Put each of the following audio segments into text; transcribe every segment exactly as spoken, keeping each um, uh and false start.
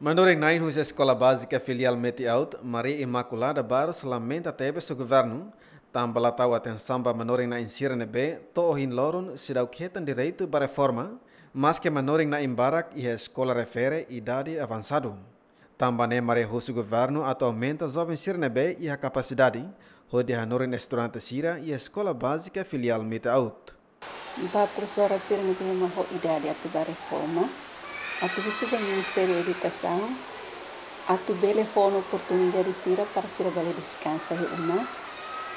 Manorin-na'in husi Eskola Bázika Filiál Meti-Aut, Maria Imaculada Barros, lamenta tebes ho governu, tanba la tau atensaun ba manorin-na'in sira ne'ebé to'o ohin loron seidauk hetan direitu ba reforma, maske manorin-na'in barak iha eskola refere idade avansadu. Tanba ne'e Maria husu governu atu aumenta joven sira ne'ebé iha kapasidade, hodi hanorin estudante sira iha Eskola Bázika Filiál Meti-Aut. Ba profesora sira ne'ebé mak ho idade atu ba reforma, atu husu ba Ministériu Edukasaun, atu bele fó ona oportunidade sira para sira bele deskansa iha uma,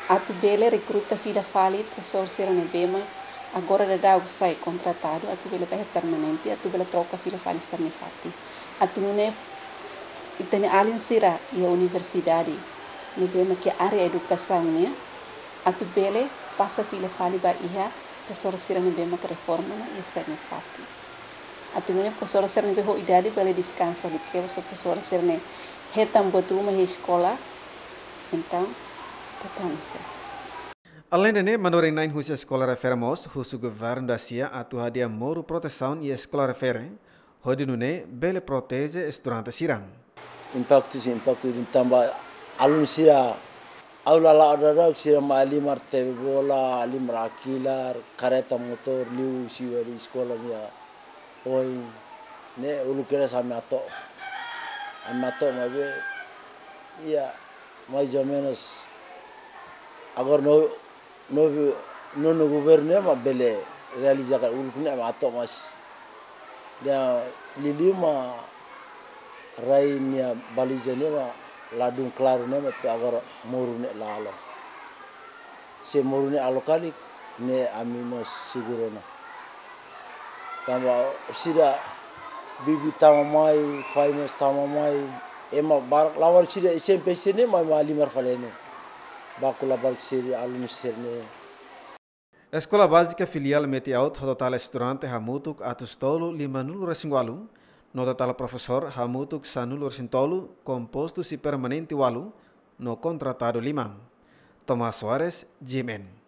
atu bele rekruta fila fali profesór sira ne'ebé mak agora daudaun sai kontratadu, atu bele ba iha permanente, atu bele troka fila fali sira-nia fatin. Atu nune'e ita-nia alin sira iha universidade ne'ebé mak iha área edukasaun nian, atu bele pasa fila fali ba iha profesór sira ne'ebé mak reforma ona iha sira-nia fatin. Atu nune'e profesór sira ne'ebé ho idade bele deskansa, duké profesór sira ne'e hetan buat ruma iha eskola, entaun, tatamu sira. Aleinde ne'e, manorin-na'in husi eskola refere mós husu governu dasia atu hadi'a moru protesaun iha eskola refere, hodi nune'e bele proteje estudante sira. Impaktu, sin, impaktu, tanba alun sira aula la ada, sira mak halimar tebe bola, halimar hakilar, kareta motór, liu husi wali eskola nian. Ohin ne'e uluk kedas ami atu, ami atu maibé, iha, mais ou menus, agora no, no, no, no governu ne'e mak bele realiza ka uluk ne'e ami atu mas. Dia lili mak rai nia baliza ne'e mak ladún klaru ne'e mak to'o agora moru ne'e la halo. Se moru ne'e halo karik, ne'e ami mós seguru ona. Tanba sira bibi tama mai, fai mós tama mai, ema barak labarik sira S M P sira ne'e mai, mai halimar fali ne'e. Baku labarik sira alun sira ne'e. Eskola Bázika Filiál Meti-Aut ho totál estudante hamutuk atus tolu limanulu-resin-ualu, no totál profesór hamutuk sanulu-resin-tolu, kompostu husi permanente ualu, no kontratadu lima. Tomás Soares, G M N.